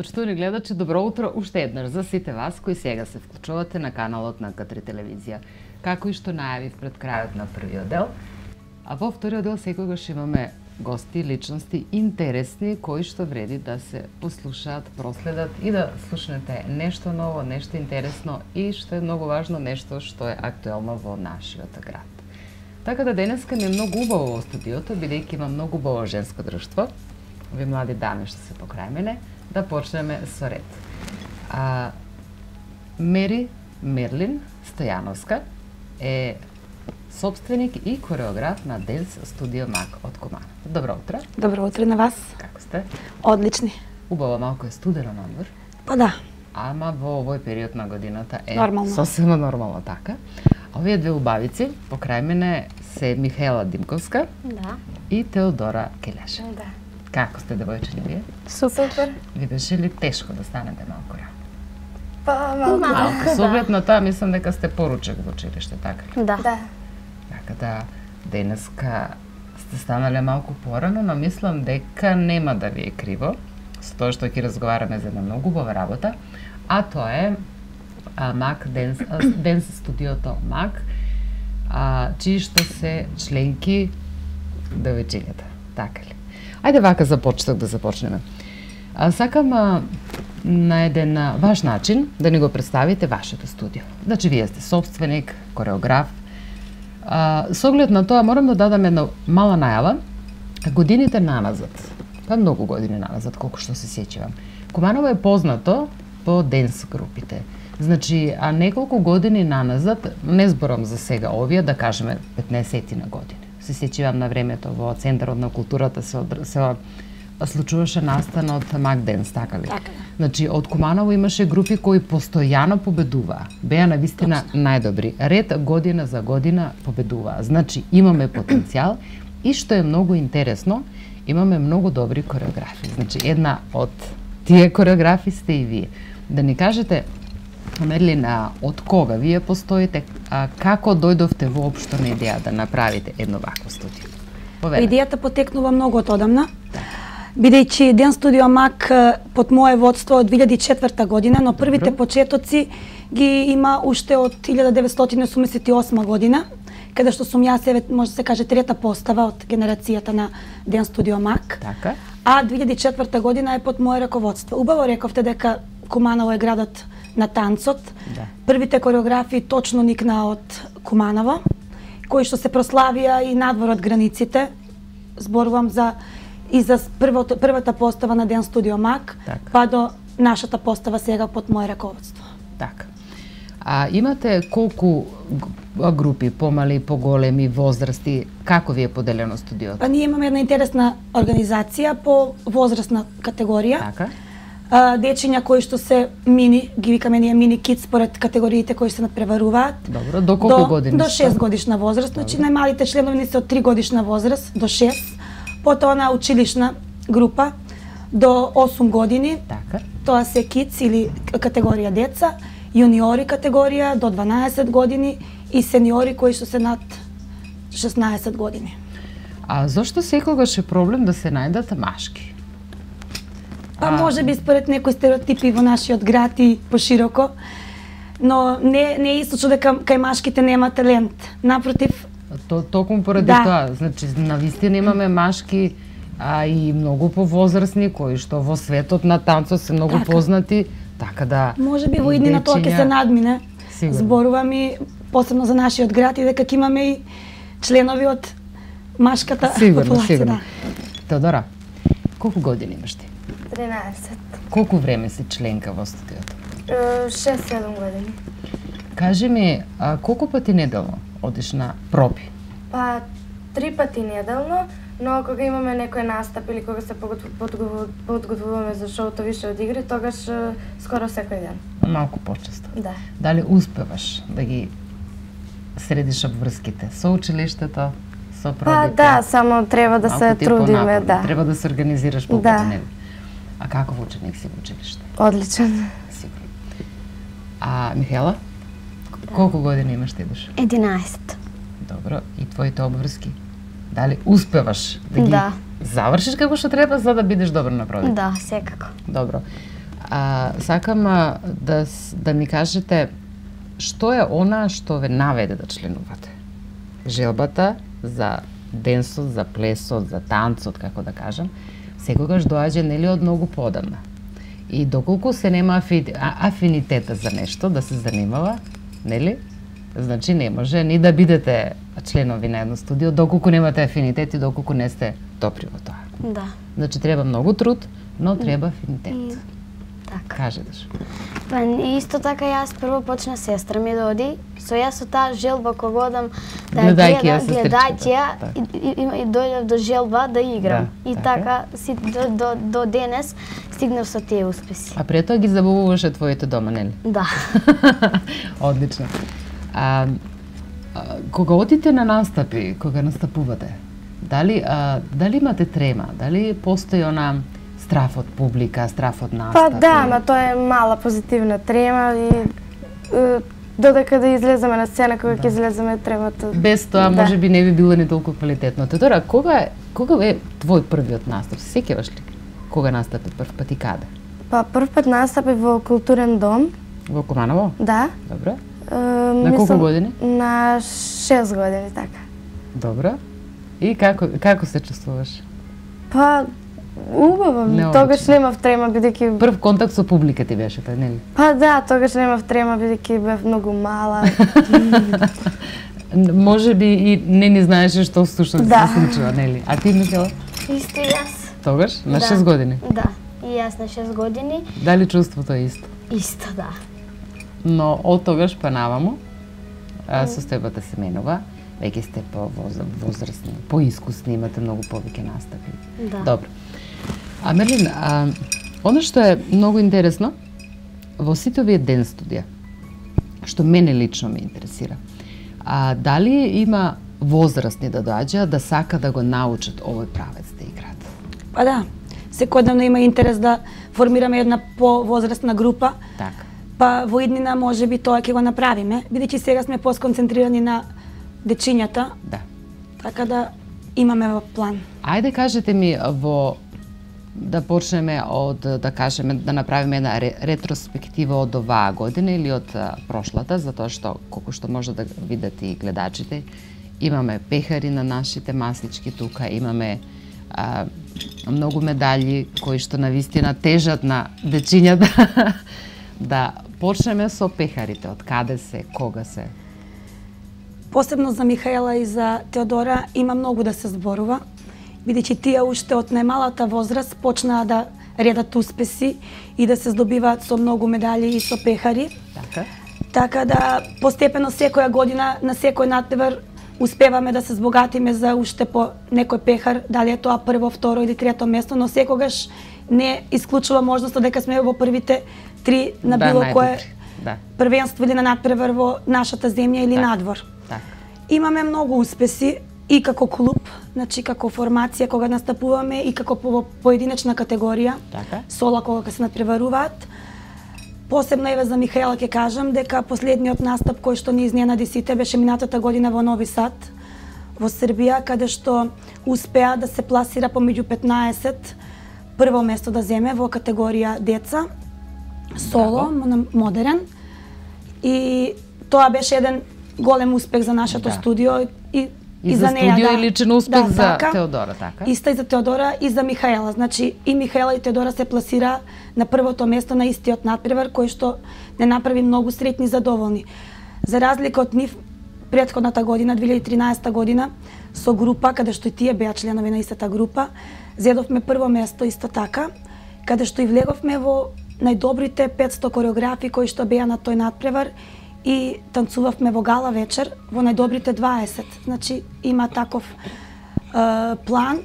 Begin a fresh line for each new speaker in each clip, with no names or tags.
Почитувани гледачи, добро утро уште еднаш за сите вас кои сега се вклучувате на каналот на К3 телевизија. Како и што најавив пред крајот на првиот дел, а во вториот дел секогаш имаме гости, личности интересни кои што вреди да се послушаат, проследат и да слушнете нешто ново, нешто интересно и што е многу важно, нешто што е актуелно во нашиот град. Така да денеска ми е многу убаво во студиото, бидејќи има многу убаво женско друштво. Овие млади дами што се покрај мене, да почнеме со ред. Мери Мерлин Стојановска е сопственик и кореограф на Денс Студио Мак од Куманово. Добро утро.
Добро утро на вас.
Како сте?
Одлични.
Убаво, малку е студено надвор.
Па да.
Ама во овој период на годината е
нормално.
Сосема нормално така. Овие две убавици покрај мене се Михаела Димковска и Теодора Келеша.
Да.
Како сте, девојчиња, вие?
Супер.
Ви беше ли тешко да станете малку рано?
Па малку.
Со оглед на тоа, мислам дека сте поручек во училиште, така ли?
Да.
Така да, денеска сте станале малку порано, но мислам дека нема да ви е криво, со тоа што ќе разговараме за една многу убава работа, а тоа е Мак Денс Студиото Мак, чии што се членки девојчињата, така ли? Ајде вака за почеток да започнеме. Сакам на еден ваш начин да ни го представите вашето студио. Значи, вие сте сопственик, кореограф. Со оглед на тоа морам да дадам една мала најава. Годините наназад, па многу години наназад, колку што се сеќавам, Куманово е познато по денс групите. Значи, неколку години наназад, не зборам за сега овие, да кажеме 15 на години. Се сеќавам на времето во Центарот на културата се случуваше настана од Мак Денс, така ли?
Така.
Значи, од Куманово имаше групи кои постојано победуваа. Беа навистина најдобри. Ред година за година победуваа. Значи, имаме потенцијал и што е многу интересно, имаме многу добри кореографи. Значи, една од тие кореографи сте и вие. Да ни кажете, Мерлин, од кога вие постоите, како дојдовте воопшто на идеја да направите едно вакво студио?
Идејата потекнува многу одамна, бидејќи Денс Студио Мак под мое водство од 2004 година, но првите почетоци ги има уште од 1988 година, каде што сум јас, може да се каже, трета постава од генерацијата на Денс Студио Мак.
Така.
А 2004 година е под мое раководство. Убаво рековте дека Куманово е градот на танцот.
Да.
Првите кореографии точно никнаа од Куманово, кои што се прославија и надвор од границите. Зборувам за првата постава на Денс Студио Мак, па до нашата постава сега под мое раководство.
Така. Имате колку групи, помали, поголеми, возрасти, како ви е поделено студиото?
Па ние имаме една интересна организација по возрастна категорија.
Така.
Дечиња кои што се мини, ги викаме ние мини кид според категориите кои се надпреваруваат.
Добро, до колку години?
До 6 годишна возраст, значи најмалите членови се од 3 годишна возраст до 6. Потоа на училишна група до 8 години.
Така.
Тоа се кидс или категорија деца, јуниори категорија до 12 години и сениори кои што се над 16 години.
Зошто секогаш е проблем да се најдат машки?
Па може би според некои стереотипи во нашиот град и пошироко, но не е исто дека кај машките нема талент. Напротив,
Токму поради тоа, значи навистина имаме машки, и многу повозрастни кои што во светот на танцот се многу познати, така да
може би во иднина тоа ќе се надмине. Зборувам и посебно за нашиот град и дека ќе имаме и членови од машката популација.
Сигурно. Теодора, колку години имаш ти?
13.
Колку време си членка во студиото?
6-7 години.
Кажи ми, колку пати неделно одиш на проби?
Па 3 пати неделно, но кога имаме некој настап или кога се подготвуваме за шоуто више од игри, тогаш скоро секој ден.
Малку почесто.
Да.
Дали успеваш да ги средиш обврските со училиштето, со пробите?
Па да, само треба да се трудиме, да.
Треба да се организираш полкото нели? А каков ученик си во училиште?
Одличен.
Сигурно. Михаела, колку години имаш ти душа?
11.
Добро, и твоите обврски? Дали успеваш да ги завршиш како што треба за да бидеш добро на пробите?
Да, секако.
Добро. Сакам да ми кажете што е она што ве наведе да членувате? Желбата за денсот, за плесот, за танцот, како да кажам, секогаш доаѓа нели од многу подамна. И доколку се нема афинитета за нешто да се занимава, нели? Значи не може ни да бидете членови на едно студио доколку немате афинитет и доколку не сте добри во тоа.
Да.
Значи треба многу труд, но треба афинитет.
Така.
Кажеш.
Па исто така јас прво почна сестра ми да оди, со јас со таа желба кога одам да гледајќи ја и дојдев до желба да играм. И така си до денес стигнав со тие успеси.
А пред тоа ги забавуваше твоите дома, нели?
Да.
Одлично. Кога одите на настапи, кога настапувате, дали имате трема? Дали постои она страф од публика, страф од настапи?
Па да, ама тоа е мала позитивна трема и додека да излеземе на сцена, кога ќе излеземе тремата.
Без тоа може би не би било ни толку квалитетно. Теодора, кога е твој првиот настап? Се сеќаваш ли? Кога настапи прв пат и каде?
Па прв пат настапи во културен дом.
Во Куманово?
Да.
Добро. На колку години?
На 6 години, така.
Добро. И како се чувствуваш?
Па убаво, тогаш немав трема бидејќи
прв контакт со публика ти беше тоа, нели?
Па да, тогаш немав трема бидејќи бев многу мала.
Може би и не ни знаеше што всушност се случува, нели? А ти, Михела?
Исто јас.
Тогаш на 6 години?
Да, и јас на 6 години.
Дали чувството е исто?
Исто, да.
Но од тогаш па наваму состојбата се менува. Веќе сте возрастни, поискусни, имате многу повеќе настапи.
Да.
Добро. А Мерлин, оно што е многу интересно, во сите овие ден студија, што мене лично ме интересира, дали има возрастни да доаѓаат да сака да го научат овој правец да играат?
Па да, секојдневно има интерес да формираме една повозрастна група.
Така.
Па во иднина може би тоа ќе го направиме, бидејќи сега сме посконцентрирани на дечињата.
Да.
Така да имаме во план.
Ајде кажете ми да почнеме од да кажеме да направиме една ретроспектива од оваа година или од прошлата, затоа што колку што може да видат и гледачите, имаме пехари на нашите маслички тука, имаме многу медали кои што навистина тежат на дечињата. Да почнеме со пехарите, од каде се, кога се?
Посебно за Михаела и за Теодора има многу да се зборува, бидејќи тие уште од најмалата возраст почнаа да редат успеси и да се здобиваат со многу медали и со пехари.
Така.
Така да постепено секоја година на секој надпревар успеваме да се збогатиме за уште по некој пехар, дали е тоа прво, второ или трето место, но секогаш не исклучува можноста дека сме во првите 3 на било кое првенство или на надпревар во нашата земја или надвор. Имаме многу успеси и како клуб, значи како формација кога настапуваме и како поединечна категорија, сола кога се надпреваруваат. Посебно еве за Михаела ќе кажам дека последниот настап кој што ни изненади сите беше минатата година во Нови Сад, во Србија, каде што успеа да се пласира помеѓу 15, прво место да земе во категорија деца, соло, модерен. И тоа беше еден голем успех за нашето студио и за неја.
И за студио и личен успех за Теодора, така?
Иста и за Теодора и за Михаела. Значи и Михаела и Теодора се пласира на првото место на истиот надпревар кој што не направи многу среќни и задоволни. За разлика од нив, претходната година, 2013 година, со група, каде што и тие беа членови на истата група, зедовме прво место исто така, каде што и влеговме во најдобрите 500 кореографи кои што беа на тој надпревар и танцувавме во гала вечер во најдобрите 20. Значи има таков план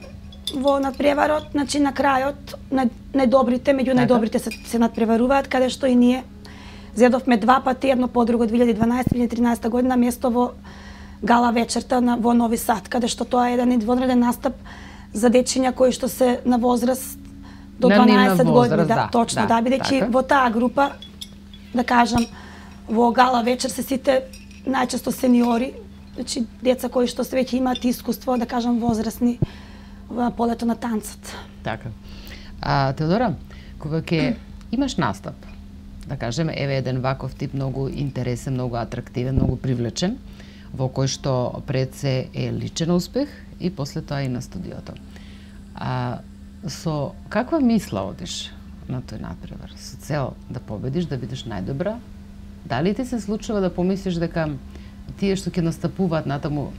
во надпреварот, значи на крајот најдобрите, меѓу најдобрите се надпреваруваат, каде што и ние зедовме 2 пати, едно по друго 2012-2013 година место во гала вечерта во Нови Сад, каде што тоа е еден извонреден настап за дечиња кои што се на возраст до 12 години, да, точно, да, бидејќи во таа група, да кажам, во гала вечер се сите најчесто сениори, значи деца кои што се веќе имаат искуство, да кажам, возрастни во полето на танцот.
Така. Теодора, кога ќе имаш настап. Да кажеме, еве еден ваков тип многу интересен, многу атрактивен, многу привлечен, во кој што пред се е личен успех и после тоа и на студиото. Со каква мисла одиш на тој надпревар? Со цел да победиш, да бидеш најдобра? Дали ти се случува да помислиш дека тие што ќе настапуваат натаму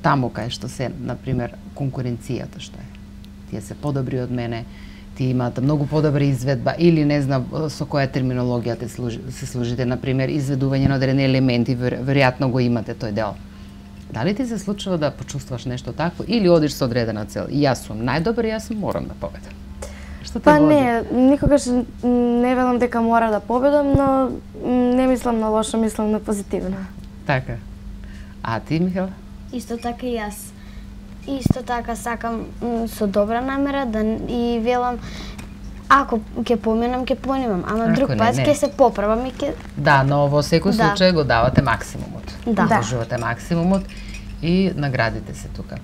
таму кај што се, например, конкуренцијата што е? Тие се подобри од мене, тие имаат многу подобра изведба или не знам со која терминологија се служите, например, изведување на одредени елементи, веројатно го имате тој дел. Дали ти се случува да почувствуваш нешто такво или одиш со одредена цел? И јас сум најдобар, јас морам да победам. Што те води?
Не, никогаш не велам дека мора да победам, но не мислам на лошо, мислам на позитивно.
Така. А ти, Михаела?
Исто така и јас. Исто така сакам со добра намера и велам ако ќе поминам, ќе понимам, ама друг пат ќе се поправам и ќе...
Да, но во секој случај го давате максимумот.
Да.
Вложувате максимумот и наградите се тука.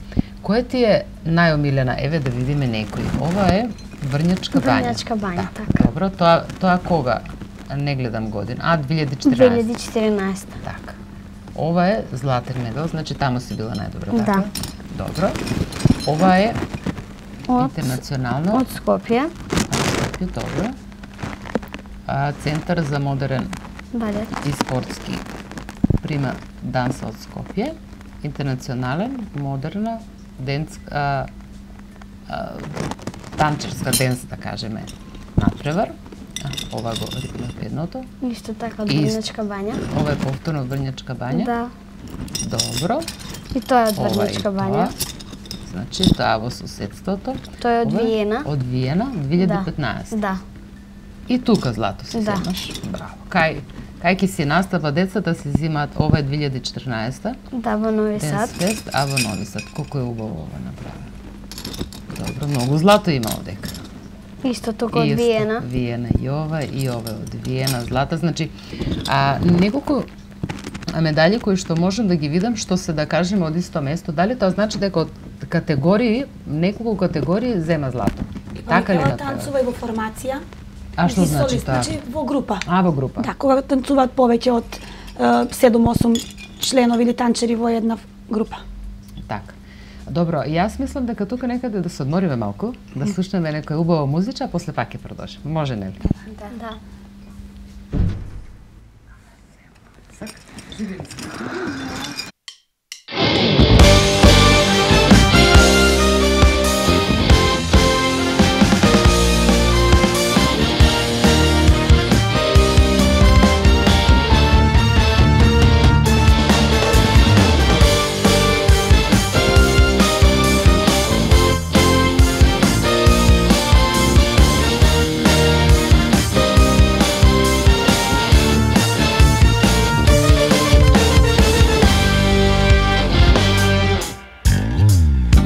Кој ти е најомилена? Еве да видиме некој. Ова е Врњачка бања.
Врњачка бања, така.
Добро, тоа кога? Не гледам година. 2014.
2014.
Така. Ова е златен медал, значи таму си била најдобра, така?
Да.
Добро. Ова е интернационално.
Од Скопје.
Скопје, добро. Центар за модерен
балет
и спортски прима данса од Скопје. Интернационален, модерна, денска, танчерска денс, да кажеме, надпревар. Ова го рекнав едното.
Исто така од Врњачка бања.
Ова е повторно од Врњачка бања.
Да.
Добро.
И тоа е од Врњачка бања.
Значи, тоа во соседството.
Тоа е од Виена.
Од Виена, 2015.
Да.
И тука злато се земаш. Браво. Кај ќе си настапа децата се земаат, ова е 2014.
Да, во Нови Сад.
Денсфест, а во Нови Сад. Колку е убаво ова направено. Добро, многу злато има овдека.
Исто тука од Виена.
Виена и ова е од Виена, злата. Значи, неколку медали кои што можам да ги видам, што се, да кажеме, од исто место, дали тоа значи дека од категории, неколку категории зема злато? Така ли направено?
Танцува и во формација.
А што значи тоа?
Значи во група.
Во група.
Да, кога танцуваат повеќе од 7-8 членови или танчери во една група.
Така. Добро, јас мислам дека тука некаде да се одмориме малку, да слушнеме некоја убава музичка, а после пак ќе продолжиме. Може, нели?
Да.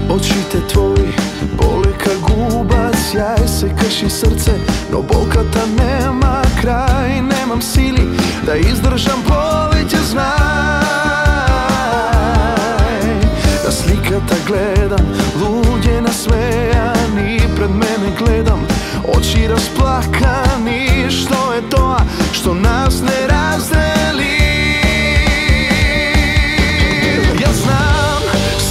Очите твои боле ка губа, сјај се крши срце, но болката нема крај, немам сили да издржам повеќе, знај. На сликата гледам, луѓе насмејани, пред мене гледам, очи расплакани, што е тоа што нас не раздели? Јас знам,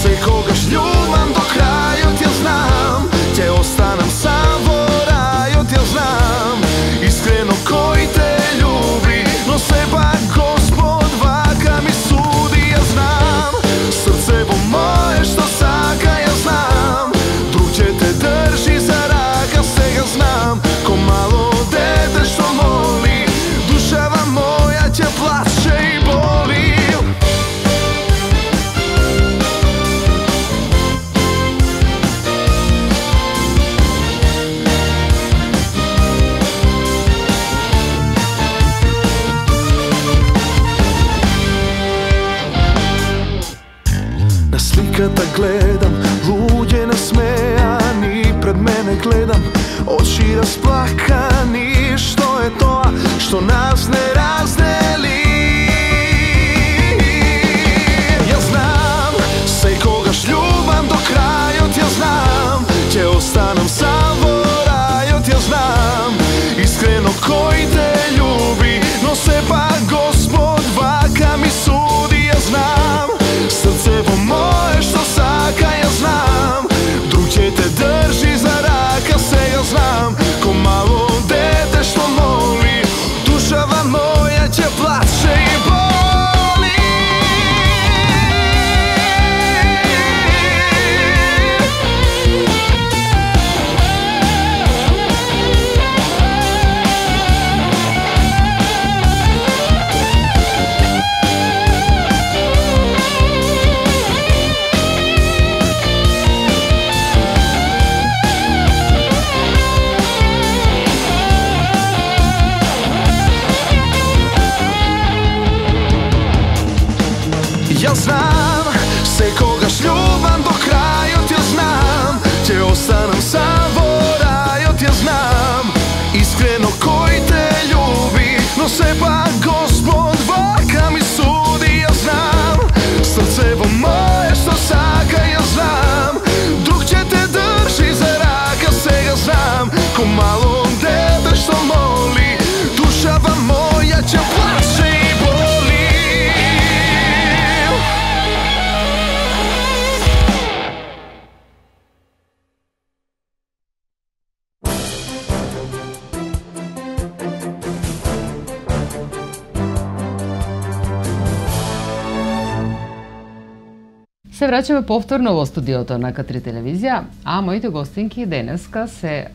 секогаш љубам до крајот, ја знам, ќе останам сам во рајот, ја знам, искрено кој те љуби, но сепак Господ вака ми суди, ја знам, срцево мое што сака, ја знам, друг ќе те држи за рака, сега знам, ко мало дете што моли, душава моја ќе плаче и боли. На сликата гледам, луѓе насмејани, пред мене гледам, очи расплакани, што е тоа што нас не раздели? Ја знам, секогаш љубам до крајот, ја знам, ќе останам сам во рајот, ја знам, Срцево мое што сака ја знам, друг ќе те држи за рака, сега знам. Ко мало дете што моли, душава моја ќе плаче и боли. Ја знам, секогаш љубам до крајот, ја знам, ќе останам сам во рајот, ја знам, искрено кој те љуби, но сепак Господ вака ми суди, ја знам, срцево мое што сака, ја знам, друг ќе те држи за рака, сега знам, ко мало дете што моли, душава моја ќе плаче и боли.
Се враќаме повторно во студиото на К3 телевизија, а моите гостинки денеска се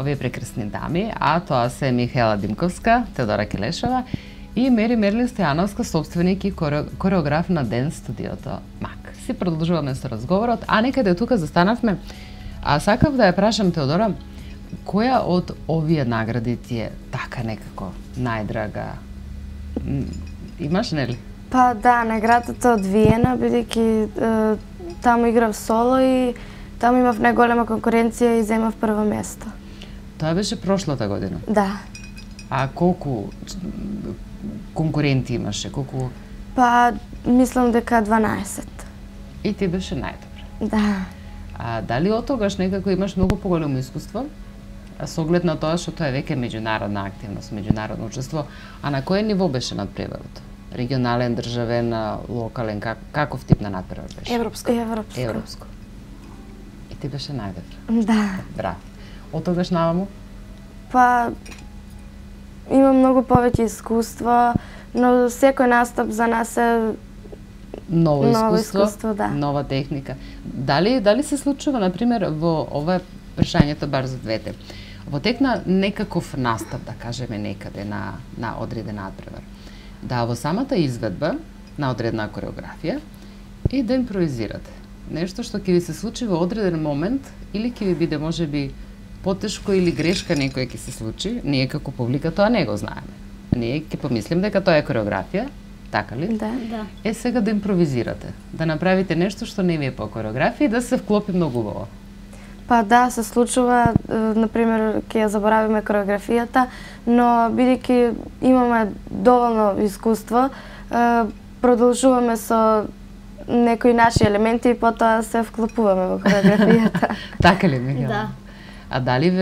овие прекрасни дами, а тоа се Михаела Димковска, Теодора Келешова и Мери Мерлин Стојановска, собственик и кореограф на Ден студиото МАК. Си продолжуваме со разговорот, а некаде тука застанавме. А сакав да ја прашам Теодора, која од овие награди ти е така некако најдрага? Имаш, нели?
Па да, наградата од Виена, бидејќи таму играв соло и таму имав најголема конкуренција и земав прво место.
Тоа беше прошлата година?
Да.
А колку конкуренти имаше? Колку?
Па, мислам дека 12.
И ти беше најдобра?
Да.
А дали од тогаш некако имаш многу поголемо искуство? Со оглед на тоа што тоа е веќе меѓународна активност, меѓународно учество, а на кој ниво беше надпреварот? Регионален, државен, локален, каков тип на надпревар беше?
Европско.
Европско. И ти беше најдобра?
Да.
Браво. Од тогаш наваму?
Па, имам многу повеќе искуство, но секој настап за нас е
ново искуство,
да.
Нова техника. Дали се случува, например, во ова прашањето бар за двете, во тек на некаков настап, да кажеме некаде на одреден надпревар, да во самата изведба на одредна кореографија и да импровизирате. Нешто што ќе ви се случи во одреден момент или ќе ви биде можеби потешко или грешка некоја ќе се случи, ние како публика тоа не го знаеме. Ние ќе помислим дека тоа е кореографија, така ли?
Да.
Е сега да импровизирате, да направите нешто што не ви е по кореографија и да се вклопи многу убаво.
Па да, се случува, например, ќе ја заборавиме кореографијата, но бидејќи имаме доволно искуство, продолжуваме со некои наши елементи и потоа се вклопуваме во кореографијата.
Така ли, Михаела?
Да.
А дали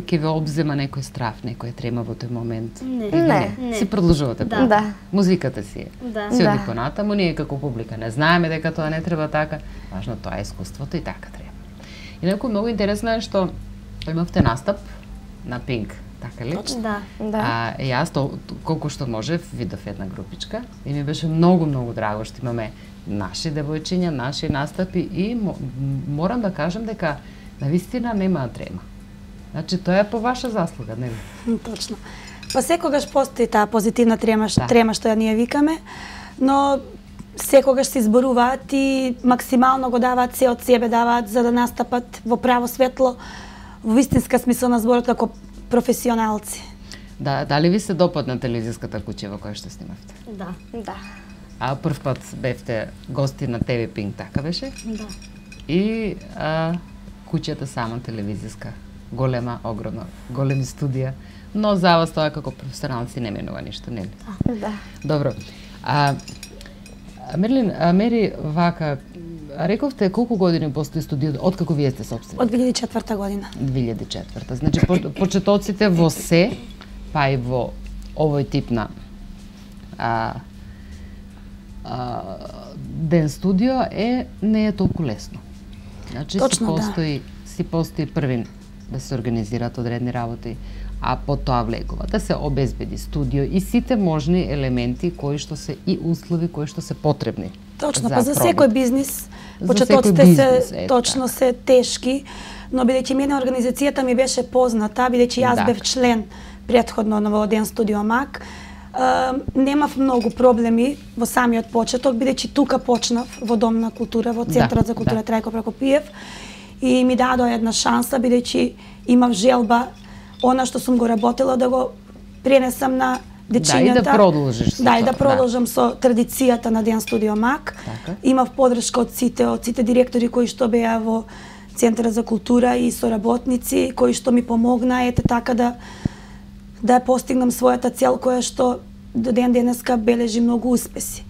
ќе ве обзема некој страф, некоја трема во тој момент?
Не.
Си продолжувате?
Да.
Да.
Музиката си е.
Да.
Си оди
Да.
понатаму, ние како публика не знаеме дека тоа не треба така. Важно тоа е искуството и така треба. И некој многу интересно е што имавте настап на Пинк, така ли?
Да.
Да.
Јас колку што можев видов една групичка и ми беше многу драго што имаме наши девојчиња, наши настапи и морам да кажам дека навистина нема трема. Значи тоа е по ваша заслуга, нели?
Точно. Па секогаш постои таа позитивна трема што ја ние викаме, но секогаш се изборуваат и максимално го даваат се од себе, даваат за да настапат во право светло, во вистинска смисла на зборот како професионалци.
Да, дали ви се допадна телевизиската куќа во која што снимавте?
Да.
Да.
А прв пат бевте гости на ТВ Пинк, така беше?
Да.
И куќата сама телевизиска, голема, огромна, големи студија, но за вас тоа како професионалци не менува ништо, нели?
Да.
Добро. Мери, вака, рековте колку години постои студиото, откако вие сте собствени?
Од 2004 година.
2004. Значи, почетоците во се, па и во овој тип на ден студио не е толку лесно. Значи
Точно,
си постои првин да се организираат одредни работи, а потоа влегува да се обезбеди студио и сите можни елементи кои што се и услови кои што се потребни.
Точно, па за секој бизнис почетоците се тешки, но бидејќи мене организацијата ми беше позната, бидејќи јас бев член претходно во Ден студио МАК, немав многу проблеми во самиот почеток, бидејќи тука почнав во Дом на култура, во Центарот за култура Трајко Прокопиев, и ми дадоа една шанса, бидејќи имав желба она што сум го работела да го пренесам на дечињата.
Да, и да продолжиш со
да, и да продолжам со традицијата на Ден студио МАК. Имав подршка од сите директори кои што беа во Центарот за култура и соработници кои што ми помогнаа така да постигнам својата цел која што до ден денеска бележи многу успеси.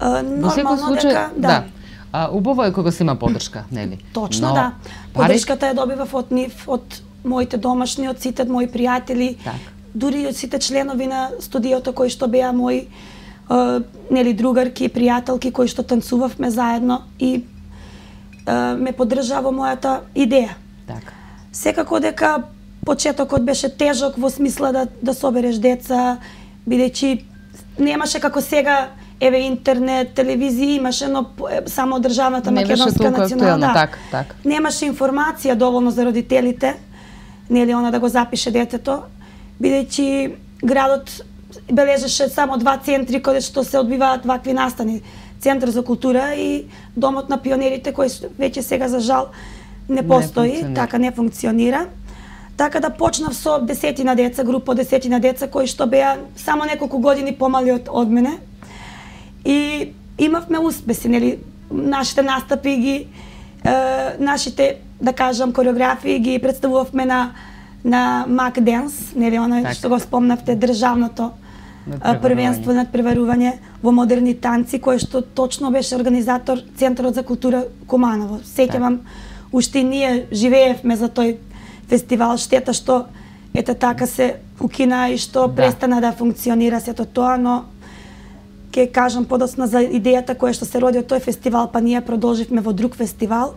Нормално дека убаво е кога се има подршка, нели?
Точно, да. Подршката ја добивав од нив, од моите домашни, од сите мои пријатели, дури од сите членови на студиото кои што беа мои нели другарки, пријателки кои што танцувавме заедно и ме поддржаа во мојата идеја.
Така.
Секако дека почетокот беше тежок во смисла да собереш деца, бидејќи немаше како сега, еве интернет, телевизија имаше, но само државната македонска национална. Немаше информација доволно за родителите, нели она да го запише детето, бидејќи градот бележеше само 2 центри каде што се одбиваат вакви настани. Центар за култура и Домот на пионерите, кој веќе сега за жал не постои, така не функционира. Така да почнав со 10 деца, група од 10 деца кои што беа само неколку години помали од мене. И имавме успеси, нели, нашите настапи ги нашите, да кажам, кореографии ги представувавме на МАК Денс, нели, она што го спомнавте, државното првенство над преварување во модерни танци, кој што точно беше организатор Центарот за култура Куманово. Сеќавам, уште ние живеевме за тој фестивал, штета што така се укина и што престана да функционира сето тоа, но ќе кажам подоцна за идејата која што се роди од тој фестивал, па ние продолживме во друг фестивал.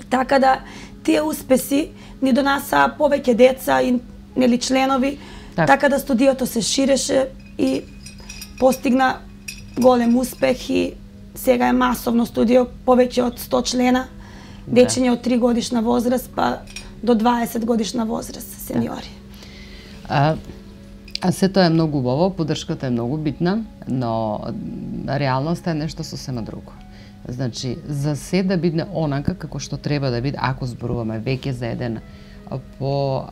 Така да тие успеси ни донесаа повеќе деца и нели членови, така да студиото се ширеше и постигна голем успех и сега е масовно студио, повеќе од 100 члена, дечиња од 3 годишна возраст па до 20 годишна возраст, сениори.
А се тоа е многу убаво, поддршката е многу битна, но реалноста е нешто сосема друго. Значи, за се да биде онака како што треба да биде, ако зборуваме веќе за еден по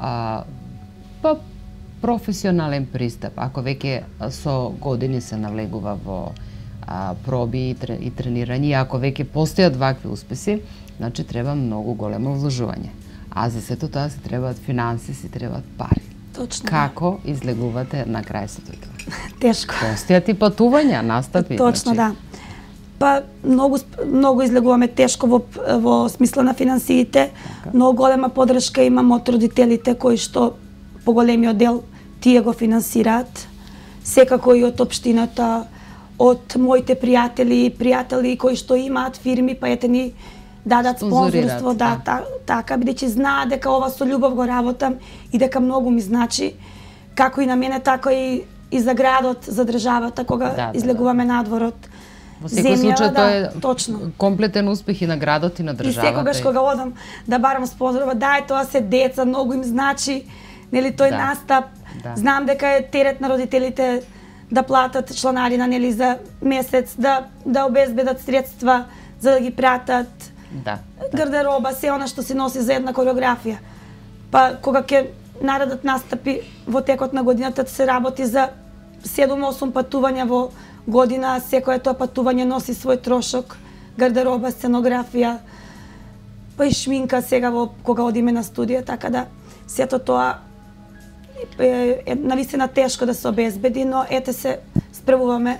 професионален пристап, ако веќе со години се навлегува во проби и тренирање, ако веќе постојат вакви успеси, значи треба многу големо вложување. А за сето тоа се требаат финанси, се требаат пари.
Точно.
Како излегувате на крај сето тоа?
Тешко.
Постојат и патувања, настапи.
Точно, да. Па многу излегуваме тешко во смисла на финансиите, но голема поддршка имам од родителите кои што поголемиот дел тие го финансираат, секако и од општината, од моите пријатели кои што имаат фирми, па ете ни дадат спонзорство, така, бидејќи знаат дека ова со љубов го работам и дека многу ми значи, како и на мене, така и за градот, за државата, кога излегуваме надворот.
Во секој случај тоа е комплетен успех и на градот и на државата.
И секогаш кога одам да барам спонзорова, тоа се деца, многу им значи, нели, тој настап. Знам дека е терет на родителите да платат чланарина, нели, за месец, да обезбедат средства за да ги пратат. Гардероба, се она што се носи за една кореографија. Па кога ќе наредат настапи во текот на годината, се работи за 7-8 патувања во година, секое тоа патување носи свој трошок, гардероба, сценографија, па и шминка сега кога одиме на студија, така да сето тоа е навистина тешко да се обезбеди, но ете се справуваме,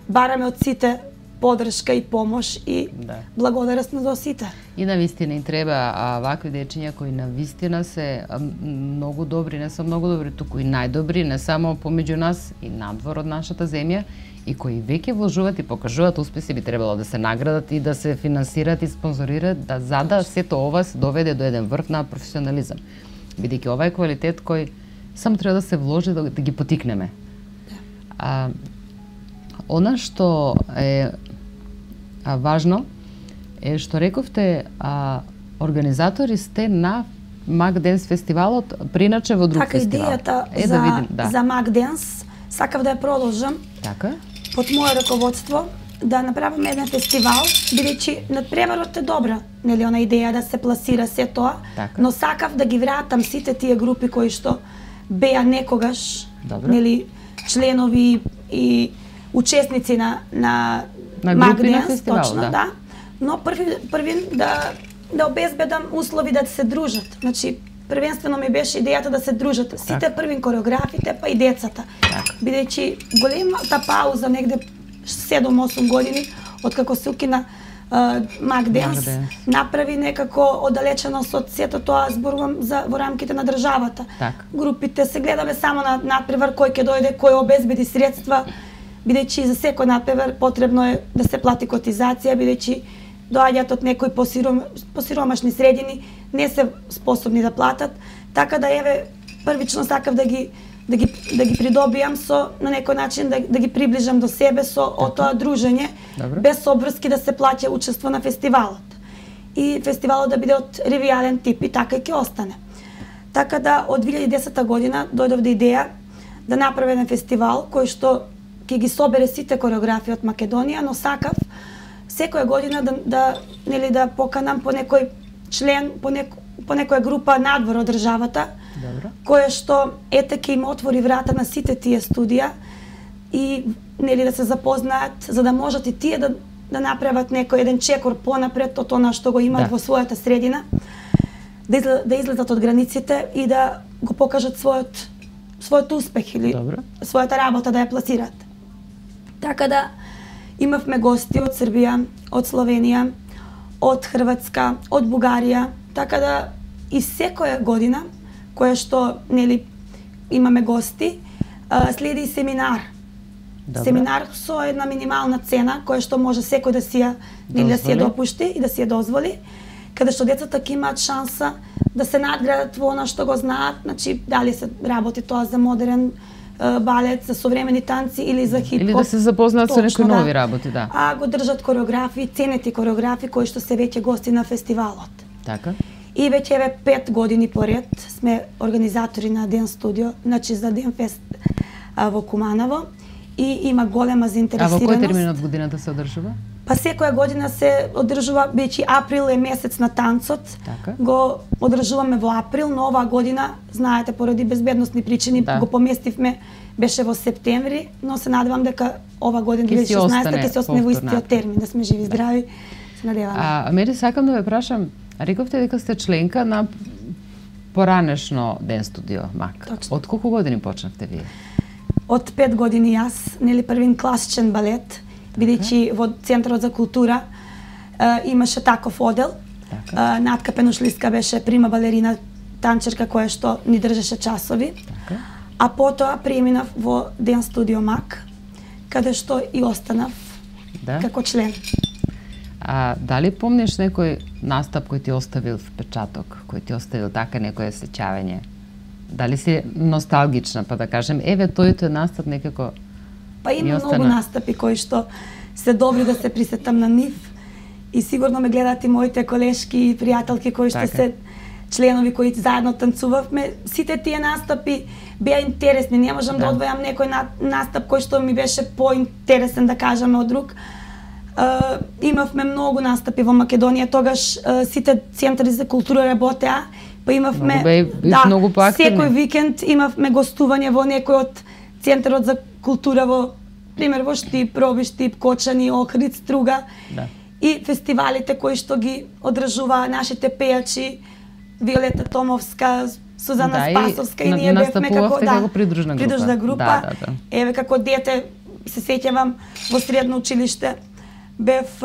бараме од сите поддршка и помош и благодарност до сите.
И навистина им треба вакви дечиња кои навистина се многу добри, не се многу добри, туку и најдобри, не само помеѓу нас и надвор од нашата земја, и кои веќе вложуваат и покажуваат успеси, би требало да се наградат и да се финансираат и спонзорираат, да за да сето ова се доведе до еден врв на професионализам. Бидејќи ова е квалитет кој само треба да се вложи да ги потикнеме. Она што е важно е што рековте, организатори сте на Мак Денс фестивалот, приначе во друг фестивал.
Така, идејата за Мак Денс сакав да ја продолжам.
Така.
Под мое раководство да направиме еден фестивал, бидејќи надпреварот е добра, нели, она идеја да се пласира се тоа, така. Но сакав да ги вратам сите тие групи кои што беа некогаш, нели, членови и учесници на Мак Денс, точно, да. Но први да обезбедам услови да се дружат. Значи, првенствено ми беше идејата да се дружат сите првин кореографите, па и децата. Бидејќи големата пауза, негде 7-8 години, откако се укина Мак Денс, направи некако оддалеченост од сето тоа, зборувам во рамките на државата. Групите се гледаме само на надпревар, кој ќе дојде, кој обезбеди средства, бидејќи за секој надпревар потребно е да се плати котизација, бидејќи доаѓаат од некои посиромашни средини, не се способни да платат, така да еве првично сакав да ги придобијам на некој начин да ги приближам до себе со тоа дружење, без обврски да се плаќа учество на фестивалот. И фестивалот да биде од ревијален тип и така и ќе остане. Така да од 2010 година дојдов до идеја да направи еден фестивал кој што ќе ги собере сите кореографии од Македонија, но сакав секоја година да поканам по некој член, по некоја група надвор од државата, која што ќе им отвори врата на сите тие студија и да се запознаат, за да можат и тие да направат некој еден чекор понапред од она што го имаат во својата средина, да излезат од границите и да го покажат својот успех или својата работа да ја пласираат. Така да имавме гости од Србија, од Словенија, од Хрватска, од Бугарија, така да и секоја година која што имаме гости, следи и семинар. Семинар со една минимална цена која што може секој да си ја допушти и да си ја дозволи, каде што децата ќе имаат шанса да се надградат во она што го знаат, значи дали се работи тоа за модерен балет, за современи танци или за хип-хоп.
Или да се запознаат со некои нови работи, да.
А го држат кореографии, ценети кореографии кои што се веќе гости на фестивалот.
Така.
И веќе 5 години поред сме организатори на Ден студио, значи за Ден фест во Куманово и има голема заинтересираност.
А во кој термин од годината се одржува?
Па секоја година се одржува, бидејќи април е месец на танцот.
Така.
Го одржуваме во април, но оваа година, знаете, поради безбедносни причини го поместивме, беше во септември, но се надевам дека ова година 2016 ќе се остане во истиот термин, да сме живи здрави. Се надеваме.
Мери сакам да ве прашам, рековте дека сте членка на поранешно Ден студио Мак.
Точно.
Од колку години почнавте вие?
Од 5 години јас, првин класичен балет, бидејќи во Центарот за култура имаше таков одел. Натка Пенушлиска беше прима балерина, танчерка која што ни држеше часови. А потоа преминав во Ден студио Мак, каде што и останав како член.
Дали помниш некој настап кој ти оставил впечаток, кој ти оставил така некое сеќавање? Дали си носталгична, па да кажем, еве тој настап некако...
Па има многу настапи кои што се добри да се присетам на нив и сигурно ме гледаат и моите колешки и пријателки кои што се членови кои заедно танцувавме. Сите тие настапи беа интересни, не можам да одвојам некој настап кој што ми беше поинтересен, да кажеме, од друг. Имавме многу настапи во Македонија, тогаш сите центари за култура работеа, па имавме секој викенд имавме гостување во некој од Центарот за култура во пример во Штип, Роби Штип, Кочани, Охрид, Струга и фестивалите кои што ги одржува нашите пејачи, Виолета Томовска, Сузана Спасовска и ние бевме како придружна група. Еве како дете се сеќавам во средно училиште бев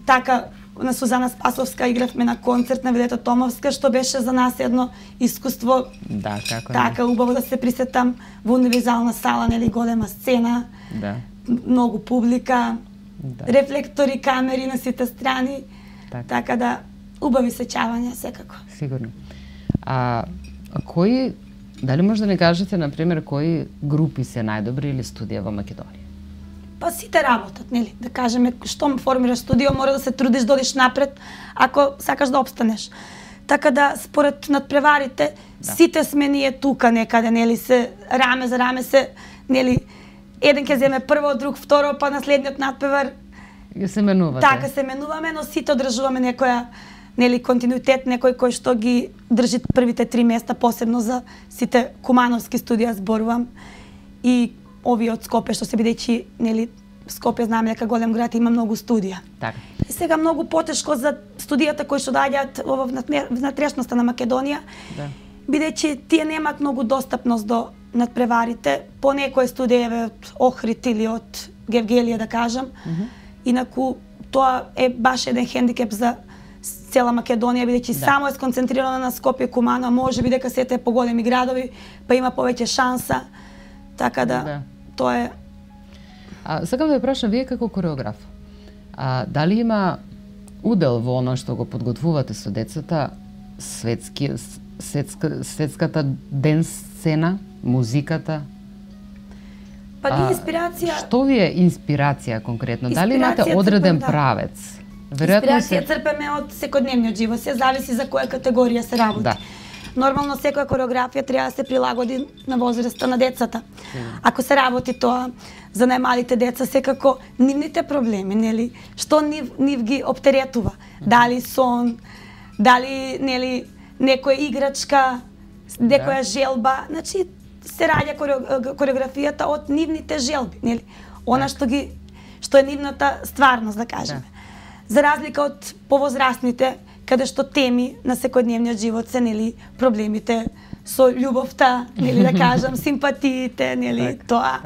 така на Сузана Спасовска, игравме на концерт на Виолета Томовска, што беше за нас едно искуство.
Да, како
така убаво да се присетам во универзална сала, нели, голема сцена. многу публика, рефлектори, камери на сите страни, така да убави сеќавања секако.
Сигурно. Кои, дали може да ни кажете, например, кои групи се најдобри или студија во Македонија?
Па сите работат, нели? Да кажеме, што формираш студио, мора да се трудиш да одиш напред, ако сакаш да опстанеш. Така да, според надпреварите, сите сме ние тука некаде, нели, се раме за раме се, нели, еден ќе земе прво, друг второ, па на следниот надпревар
се менувате.
Така се менуваме, но сите одржуваме некоја, нели, континуитет, некој кој што ги држи првите 3 места, посебно за сите кумановски студија зборувам и овие од Скопје, што се бидејќи, нели, Скопје знаеме дека голем град има многу студија.
Така.
И сега многу потешко за студијата кои што доаѓаат во внатрешноста на Македонија, бидејќи тие немаат многу достапност до надпреварите, по некој студија од Охрид или од Гевгелија, да кажам. Инаку тоа е баш еден хендикеп за цела Македонија, бидејќи само е сконцентрирана на Скопје, Кумано, може би дека сите поголеми градови, па има повеќе шанса. Така да, тоа е.
Сакам да ве прашам, вие како кореограф, дали има удел во оно што го подготвувате со децата, светската ден сцена, музиката?
Па ни инспирација...
Што ви е инспирација конкретно? Дали имате одреден правец?
Инспирација црпеме од секојдневниот живот, се зависи за која категорија се работи. Нормално секоја кореографија треба да се прилагоди на возраста на децата. Ако се работи тоа за најмалите деца, секако нивните проблеми, нели, што нив ги оптеретува, дали сон, дали, нели, некоја играчка, некоја желба, значи се раѓа кореографијата од нивните желби, нели, она што е нивната стварност, да кажеме. За разлика од повозрастните, каде што теми на секојдневниот живот се, нели, проблемите со љубовта, нели, да кажам, симпатиите, нели, тоа.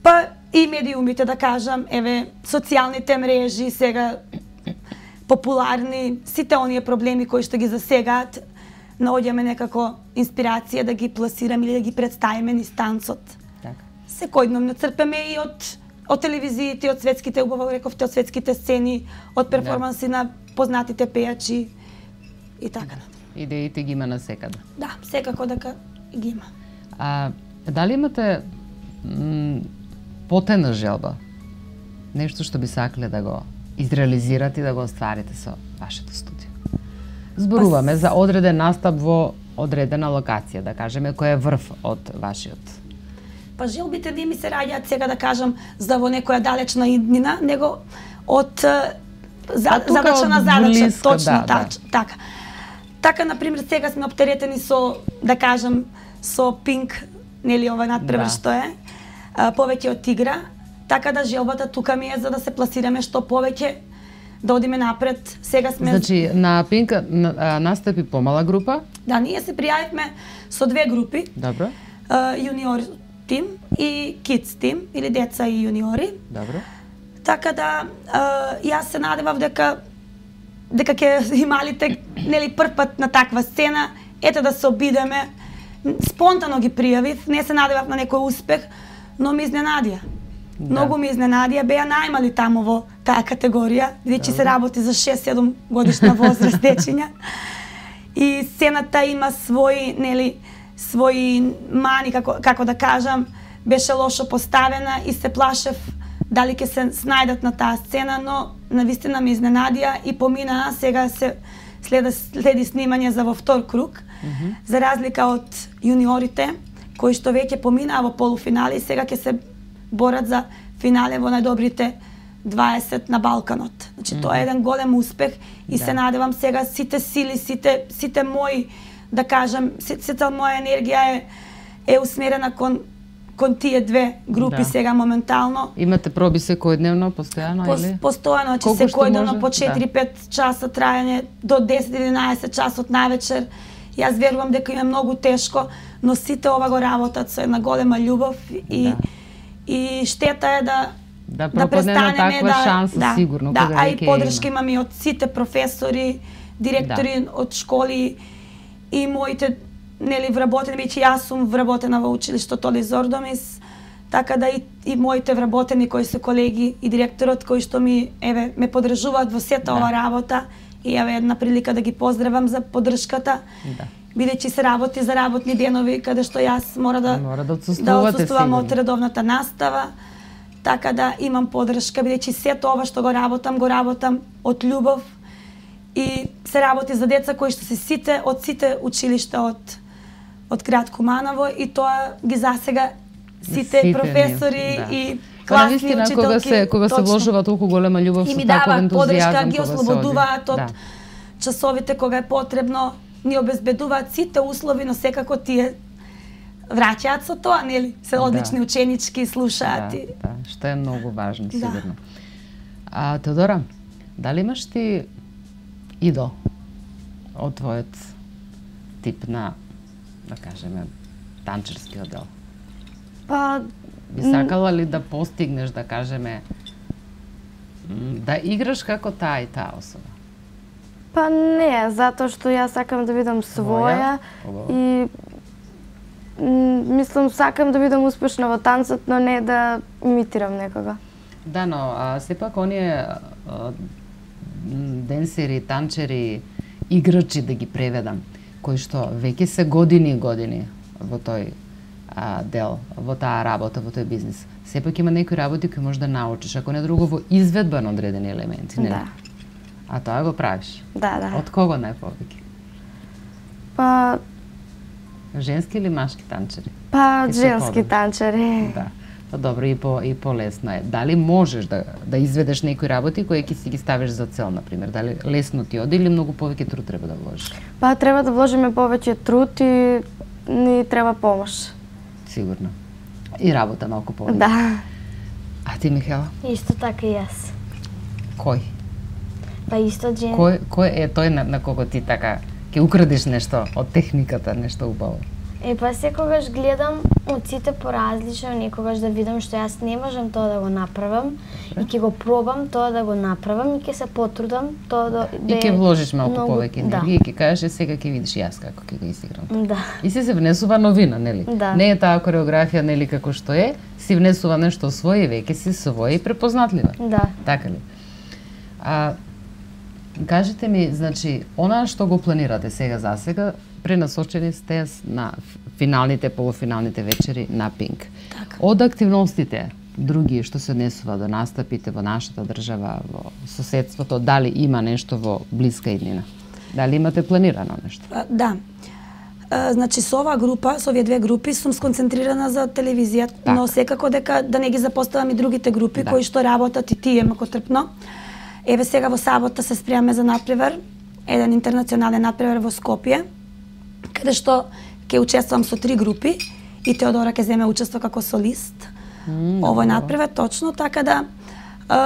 Па и медиумите, да кажам, еве, социјалните мрежи сега популарни, сите оние проблеми кои што ги засегаат, наоѓаме некако инспирација да ги пласираме или да ги представиме низ танцот. Секојдневно црпеме и од телевизиите, од светските, убаво рековте, од светските сцени, од перформанси на познатите пејачи и така.
Идеите ги има насекаде.
Да, секако дека ги има.
Дали имате потајна желба? Нешто што би сакале да го изреализирате и да го остварите со вашето студио? Зборуваме за одреден настап во одредена локација, да кажеме, кој е врв од вашиот.
Па желбите не ми се раѓаат сега, да кажам, за во некоја далечна иднина, него од задача на задача, точно така. Така, например, сега сме оптеретени со, да кажам, со Пинк, нели, ова надпревар што е, повеќе од игра, така да желбата тука ми е за да се пласираме што повеќе, да одиме напред. Сега сме...
Значи, на Пинк настапи помала група?
Да, ние се пријавивме со 2 групи.
Добро.
Јуниор тим и Kids тим, или деца и јуниори.
Добро.
Така да, јас се надевав дека ќе ималите, нели, прв пат на таква сцена, ете да се обидеме. Спонтано ги пријавив, не се надевав на некој успех, но ми изненадија. Многу ми изненадија, беа најмали таму во таа категорија, бидејќи се работи за 6-7 годишна возраст дечиња. И сцената има своји, нели, своји мани, како да кажам, беше лошо поставена и се плашев дали ќе се снајдат на таа сцена, но навистина ми изненадија и поминаа, сега се следи снимање за во втор круг, за разлика од јуниорите, кои што веќе поминаа во полуфинали, сега ќе се борат за финале во најдобрите 20 на Балканот. Значи, тоа е еден голем успех и се надевам сега сите сили, сите мои, да кажам, сета моја енергија е усмерена кон тие 2 групи сега моментално.
Имате проби секојдневно, постојано или?
Постојано, значи секојдневно по 4-5 часа трајање, до 10-11 часот навечер. Јас верувам дека им е многу тешко, но сите ова го работат со една голема љубов и штета е да престанеме
шанса, сигурно.
Да, а и подршка имаме и од сите професори, директори од школи и моите, нели, вработени, веќе јас сум вработена во училиштето Лизор Домис, Така да и моите вработени кои се колеги и директорот кои што ме поддржуваат во сета ова работа и една прилика да ги поздравам за поддршката. Бидејќи се работи за работни денови каде што јас мора да отсуствувам од редовната настава. Така да имам поддршка, бидејќи сето ова што го работам од љубов и се работи за деца кои што се сите училишта од град Куманово и тоа ги засега сите професори и класни учителки.
Кога се вложува толку голема љубов со таков ентузијазам,
поддршка, ги ослободуваат од часовите кога е потребно, ни обезбедуваат сите услови, но секако тие враќаат со тоа, нели? Се одлични ученички, слушаат.
Што е многу важно, сигурно. Теодора, дали имаш ти идол од твојот тип на, да кажеме, танчерски одел? Би сакала ли да постигнеш, да кажеме, да играш како таа и таа особа?
Не, затоа што јас сакам да бидам своја и мислам сакам да бидам успешна во танцот, но не да имитирам некога.
Да, но сепак оние денсери, танчери, играчи, да ги преведам, кои што веќе се години во тој дел, во таа работа, во тој бизнис. Сепак има некои работи кои можеш да научиш, ако не друго во изведба на одредени елементи, нели?
Да.
А тоа го правиш?
Да.
Од кого најповеќе? Женски или машки танчери?
Женски танчери.
Да. Добро, и полесно е. Дали можеш да изведеш некои работи кои ќе си ги ставиш за цел, например? Дали лесно ти оди или многу повеќе труд треба да вложиш?
Треба да вложиме повеќе труд и ни треба помош.
Сигурно. И работа малку повеќе.
Да.
А ти, Михела?
Исто така и јас.
Кој?
Исто Джен.
Кој е тој на кого ти така ќе украдиш нешто од техниката, нешто убаво?
Секогаш гледам од сите поразлично, некогаш да видам што јас не можам тоа да го направам и ќе го пробам тоа да го направам и ќе се потрудам тоа да
и ќе вложиш малку повеќе енергија и ќе кажеш сега ќе видиш јас како ќе го изиграм.
Да.
И се внесува новина, нели?
Да.
Не е таа кореографија, нели, како што е, си внесува нешто своје, веќе си своја и препознатлива.
Да.
Така ли? Кажете ми, значи, она што го планирате сега за сега, пренасочени сте на финалните, полуфиналните вечери на Пинк.
Така.
Од активностите, други што се однесува до настапите во нашата држава, во соседството, дали има нешто во блиска иднина? Дали имате планирано нешто?
Да. Значи, со оваа група, со овие две групи, сум сконцентрирана за телевизија, но секако дека да не ги запоставам и другите групи кои што работат и тие макотрпно. Еве сега во сабота се спремаме за надпревар, еден интернационален надпревар во Скопје, каде што ќе учествувам со 3 групи и Теодора ќе земе учество како солист. Овој надпревар точно, така да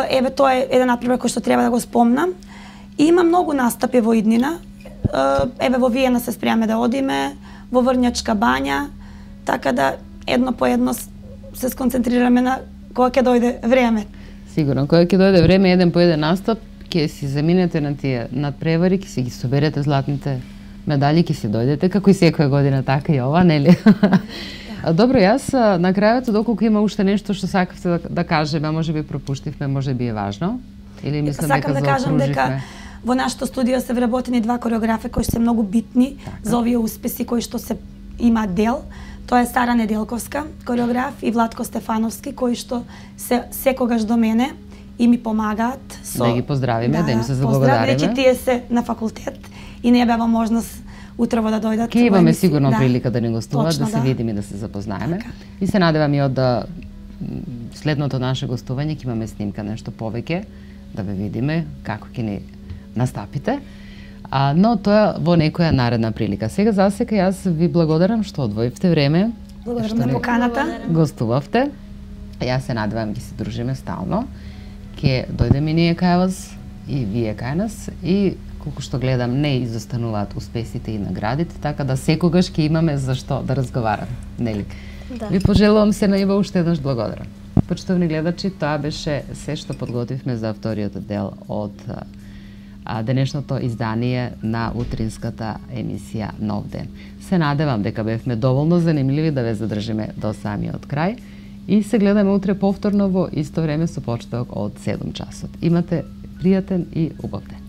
еве тоа е еден надпревар кој што треба да го спомнам. И има многу настапи во иднина. Еве во Виена се спремаме да одиме, во Врњачка бања, така да едно по едно се сконцентрираме на кога ќе дојде време.
Сигурно, кога ќе дојде време еден по еден настап, ќе си заминете на тие надпревари, ќе си ги соберете златните медали, ќе си дојдете, како и секоја година, така и ова, нели? Добро, јас на крајот, доколку има уште нешто што сакавте да кажеме, може би пропуштивме, може би е важно, или мислам дека заокруживме? Сакам да кажам дека
во нашето студио се вработени 2 кореографи кои се многу битни за овие успеси кои што се има дел. Тоа е Сара Неделковска, кореограф, и Владко Стефановски, кои што се секогаш до мене и ми помагаат со...
Да ги поздравиме, да им се заблагодариме.
Поздравиме, тие се на факултет и не бева можност утрово да дојдат.
Ке имаме сигурно прилика да ни гостуваат, да се видиме и да се запознаеме. И се надевам и од следното наше гостување ќе имаме снимка нешто повеќе, да ве видиме како ќе ни настапите. Но тоа во некоја наредна прилика. Сега засека јас ви благодарам што одвоивте време.
Благодарам на поканата.
Гостувавте. Јас се надевам ќе се дружиме стално. Ќе дојдеме ние кај вас и вие кај нас и колку што гледам не изостануваат успесите и наградите, така да секогаш ќе имаме за што да разговараме, нели?
Да.
Ви пожелувам се наива уште еднаш благодарам. Почитувани гледачи, тоа беше се што подготвивме за вториот дел од денешното издание на утринската емисија Нов ден. Се надевам дека бевме доволно занимливи да ве задржиме до самиот крај И се гледаме утре повторно во исто време со почеток од 7 часот. Имате пријатен и убав ден.